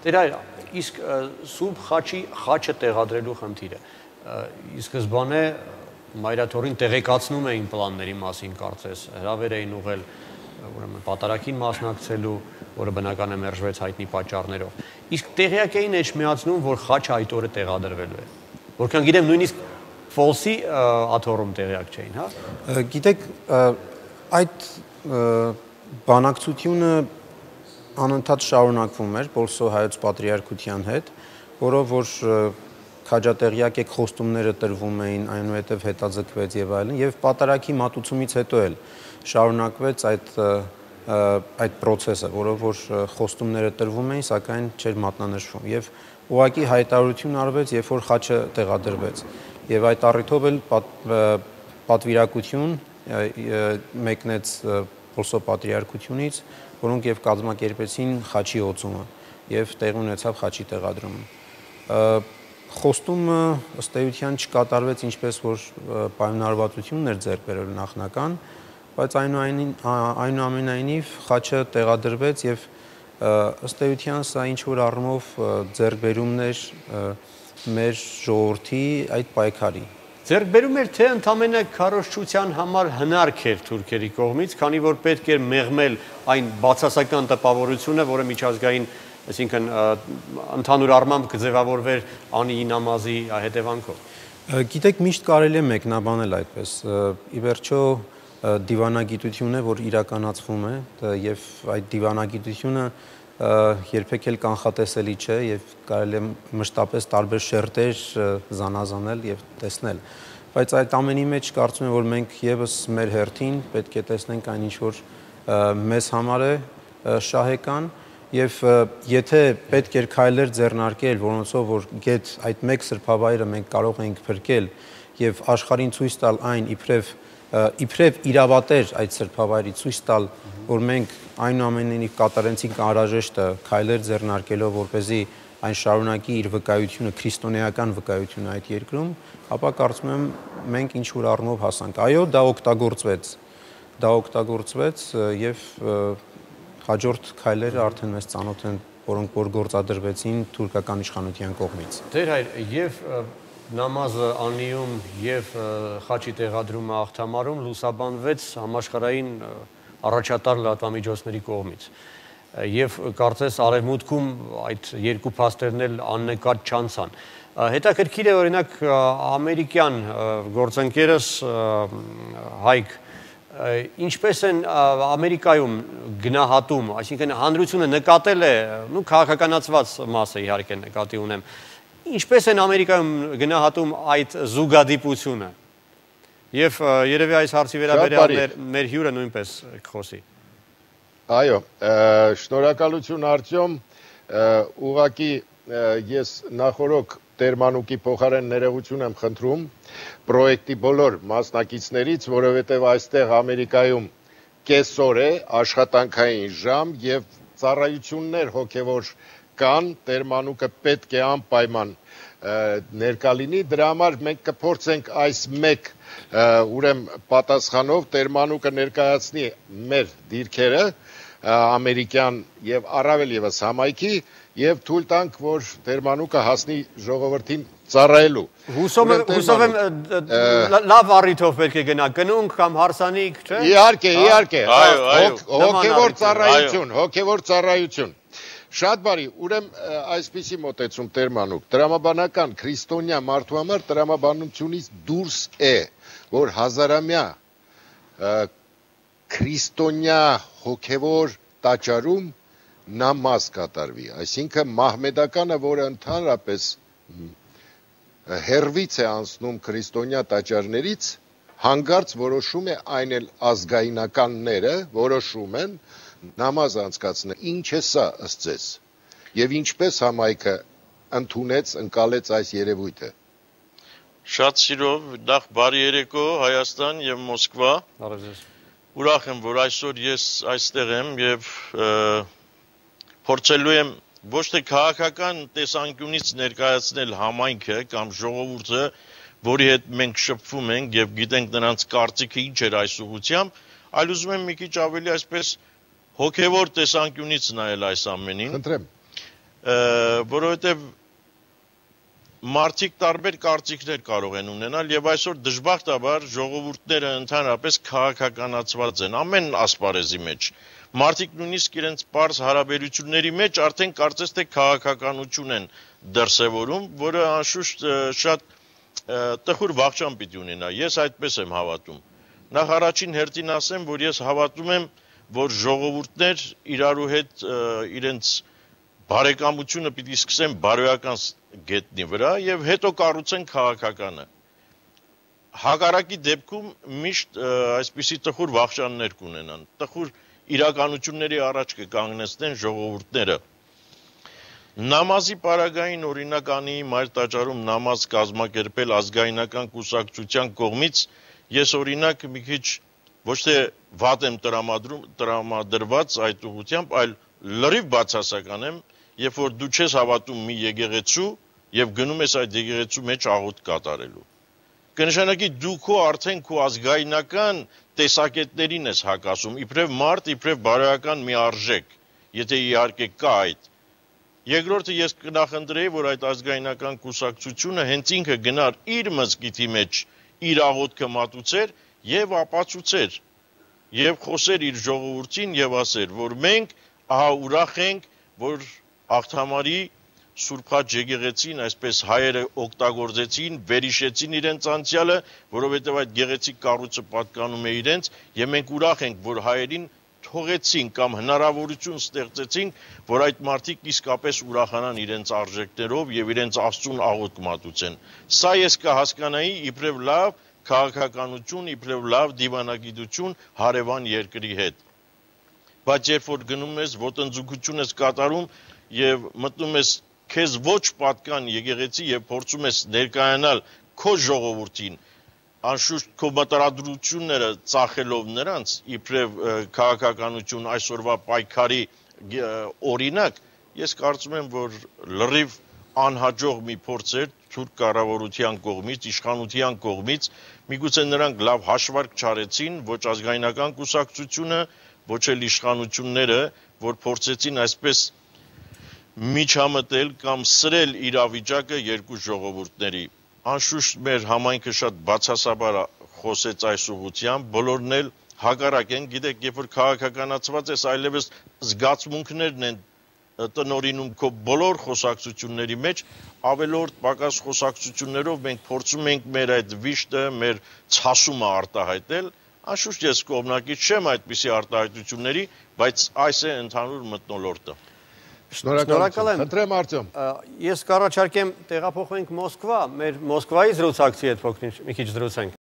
Դեր այր, իսկ Սուրբ խաչի խաչը տեղադրելու խնդիրը, ի սկզբանե մայրաթորին տեղեկացնում էին պլանների մասին կարծես, հրավեր էին ուղղել ուրեմն պատարագին մասնակցելու, որը բնական է մերժվեց հայտնի պատճառներով։ Իսկ տեղյակ էին էջմիածնում, որ խաչը այդ օրը տեղադրվելու է։ Որքան գիտեմ, նույնիսկ Ֆոլսի աթոռում տեղյակ չէին, հա։ Գիտեք, այդ բանակցությունը անընդհատ շարունակվում էր Պոլսո հայոց պատրիարքության հետ, որով որ քաջատեղյակ եք խոստումները տրվում էին, այնուհետև հետաձգվեց եւ այլն, եւ պատարագի մատուցումից հետո էլ շարունակվեց այդ process-ը, որով որ խոստումները տրվում էին, սակայն չէր մատնանշվում եւ ուղղակի հայտարարություն արվեց, երբ որ խաչը տեղադրվեց եւ այդ առիթով էլ պատվիրակություն մեկնեց Պոլսո պատրիարքությունից, որոնք եւ կազմակերպեցին խաչի օծումը եւ տեղի ունեցավ խաչի տեղադրումը։ Խոստումը ըստ էության չկատարվեց ինչպես որ պայմանավորվածությունն էր ձեռք բերել նախնական, բայց այնուամենայնիվ խաչը տեղադրվեց եւ ըստ էության սա ինչ որ առումով ձեռքբերումներ մեր ժողովրդի այդ պայքարի։ Ձեռքբերում էր թե ընդամենը քարոզչության համար հնարք էր թուրքերի կողմից, քանի որ պետք էր մեղմել այն բացասական տպավորությունը, որը միջազգային, այսինքն ընդհանուր առմամբ կձևավորվեր Անիի նամազի հետևանքով։ Գիտեք, միշտ կարելի է մեկնաբանել այդպես։ Ի վերջո դիվանագիտություն է, որ իրականացվում է եւ այդ դիվանագիտությունը երբեք էլ կանխատեսելի չէ եւ կարելի է մշտապես տարբեր շերտեր զանազանել եւ տեսնել, բայց այդ ամենի մեջ կարծում եմ որ մենք եւս մեր հերթին պետք է տեսնենք այն ինչ որ մեզ համար է շահեկան եւ եթե պետք էր քայլեր ձեռնարկել, որոնցով որ գեթ այդ մեկ սրբավայրը մենք կարող ենք փրկել եւ աշխարհին ցույց տալ այն իբրև իրավատեր այդ սրբավայրի ցույց տալ, որ մենք այնուամենայնիվ կատարեցինք անհրաժեշտը քայլեր ձեռնարկելով, որպեսզի այն շարունակի իր վկայությունը, քրիստոնեական վկայությունը այդ երկրում, ապա կարծում եմ մենք ինչ որ առումով հասանք։ Այո, դա օգտագործվեց եւ հաջորդ քայլերը արդեն մեզ ծանոթ են, որոնք որ գործադրվեցին թուրքական իշխանության կողմից։ Դեր հայր, եւ նամազը Անիում եւ խաչի տեղադրումը Աղթամարում լուսաբանվեց համաշխարհային առաջատար լրատվամիջոցների կողմից։ Եվ կարծես արևմուտքում այդ երկու փաստերն էլ աննկատ չանցան։ Հետաքրքիր է օրինակ ամերիկյան գործընկերս Հայկ ինչպես են Ամերիկայում գնահատում, այսինքն հանրությունը նկատել է, քաղաքականացված մասը իհարկե նկատի ունեմ, ինչպես են Ամերիկայում գնահատում այդ զուգադիպությունը։ Եվ երևի այս հարցի վերաբերյալ մեր հյուրը նույնպես կխոսի։ Այո, շնորհակալություն Արտյոմ, ուղղակի ես նախորոք Տերմանուկի փոխարեն ներողություն եմ խնդրում պրոյեկտի բոլոր մասնակիցներից, որովհետև այստեղ Ամերիկայում կեսօր է աշխատանքային ժամ եւ ծառայություններ հոգեվոր կան, Տերմանուկը պետք է անպայման ներկա լինի, դրա համար մենք կփորձենք այս մեկ ուրեմն պատասխանով Տերմանուկը ներկայացնի մեր դիրքերը ամերիկյան եւ առավել եւս համայնքի եւ թույլ տանք, որ Տերմանուկը հասնի ժողովրդին ծառայելու։ Հուսով եմ լավ առիթով պետք է գնա, կնունք կամ հարսանիք, չէ՞։ Իհարկե, հոգեվոր ծառայություն։ Շատ բարի, ուրեմն այսպիսի մոտեցում Տերմանուկ, տրամաբանական քրիստոնյա մարդու համար տրամաբանությունից դուրս է, որ հազարամյա քրիստոնյա հոգևոր տաճարում նամազ կատարվի, այսինքն մահմեդականը, որը ընդհանրապես հերվից է անցնում քրիստոնյա տաճարներից, հանկարծ որոշում է այն էլ ազգայնականները որոշում են նամազ անցկացնել։ Ինչ է սա ըստ ձեզ եւ ինչպես համայնքը ընդունեց, ընկալեց այս երևույթը։ Շատ սիրով, նախ բարի երեկո Հայաստան եւ Մոսկվա։ Ուրախ եմ, որ այսօր ես այստեղ եմ եւ փորձելու եմ ոչ թե քաղաքական տեսանկյունից ներկայացնել համայնքը կամ ժողովուրդը, որի հետ մենք շփվում ենք եւ գիտենք նրանց կարծիքը ինչ էր այս ուղղությամբ, այլ ուզում եմ մի քիչ ավելի այսպես հոգեվոր տեսանկյունից նայել այս ամենին։ Խնդրեմ։ որովհետև մարդիկ տարբեր կարծիքներ կարող են ունենալ եւ այսօր դժբախտաբար ժողովուրդները ընդհանրապես քաղաքականացված են ամեն ասպարեզի մեջ։ Մարդիկ նույնիսկ իրենց պարզ հարաբերությունների մեջ արդեն կարծես թե քաղաքականություն են դրսևորում, որը անշուշտ շատ տխուր վախճան պիտի ունենա։ Ես այդպես եմ հավատում։ Նախ առաջին հերթին ասեմ, որ ես հավատում եմ, որ ժողովուրդներ իրարու հետ իրենց բարեկամությունը պիտի սկսեն բարոյական գետնի վրա եւ հետո կառուցեն քաղաքականը։ Հակառակի դեպքում միշտ այսպիսի տխուր վախճաններ կունենան, տխուր իրականությունների առաջ կկանգնեցնեն ժողովուրդները։ Նամազի պարագային օրինականի մայր տաճարում նամազ կազմակերպել ազգայնական կուսակցության կողմից ես օրինակ մի քիչ ոչ թե վատ եմ տրամադրված այդ ուղղությամբ, այլ լրիվ բացասական եմ, երբ որ դու չես հավատում մի եկեղեցու եւ գնում ես այդ եկեղեցու մեջ աղոթք կատարելու։ Կնշանակի դու քո արդեն քո ազգայնական տեսակետներին ես հակասում, իբրև մարդ, իբրև բարոյական մի արժեք, եթե իհարկե կա այդ։ Երկրորդը ես կնախընտրեի, որ այդ ազգայնական կուսակցությունը հենց ինքը գնար իր մզկիթի մեջ իր աղոթքը մատուցեր եւ ապացուցեր եւ խոսեր իր ժողովրդին եւ ասեր, որ մենք ահա ուրախ ենք, որ Աղթամարի Սուրբ Խաչ եկեղեցին այսպես հայերը օգտագործեցին, վերհիշեցին իրենց անցյալը, որովհետև այդ գեղեցիկ կառույցը պատկանում է իրենց, եւ մենք ուրախ ենք, որ հայերին թողեցին կամ հնարավորություն ստեղծեցին, որ այդ մարդիկ իսկապես ուրախանան իրենց արժեքներով եւ իրենց Աստծուն աղոթք մատուցեն։ Սա ես կհասկանայի իբրև լավ քաղաքականություն, իբրև լավ դիվանագիտություն հարևան երկրի հետ։ Բայց երբ որ գնում ես ոտնձգություն ես կատարում եւ մտնում ես քեզ ոչ պատկան եկեղեցի եւ փորձում ես ներկայանալ քո ժողովրդին, անշուշտ քո մտադրությունները ծախելով նրանց, իբրև քաղաքականություն այսօրվա պայքարի օրինակ, ես կարծում եմ, որ լրիվ անհաջող մի փորձ էր թուրք կառավարության կողմից, իշխանության կողմից, միգուցե նրանք լավ հաշվարկ չարեցին, ոչ ազգայնական կուսակցությունը, ոչ էլ իշխանությունները, որ փորձեցին այսպես միջամտել կամ սրել իրավիճակը երկու ժողովուրդների։ Անշուշտ մեր համայնքը շատ բացասաբար խոսեց այս ուղղությամբ, բոլորն էլ հակառակ են, գիտեք, երբ որ քաղաքականացված ես, այլևս զգացմունքներն են տնօրինում քո բոլոր խոսակցությունների մեջ, ավելորդ պակաս խոսակցություններով մենք փորձում ենք մեր այդ վիշտը, մեր ցասումը արտահայտել, անշուշտ ես կողմնակից չեմ այդպիսի արտահայտությունների, բայց այս է ընդհանուր մթնոլորտը։ Շնորհակալ եմ։ Խնդրեմ Արտյոմ։ Ես կառաջարկեմ տեղափոխվենք Մոսկվա, մեր Մոսկվայի զրուցակցի հետ մի քիչ զրուցենք։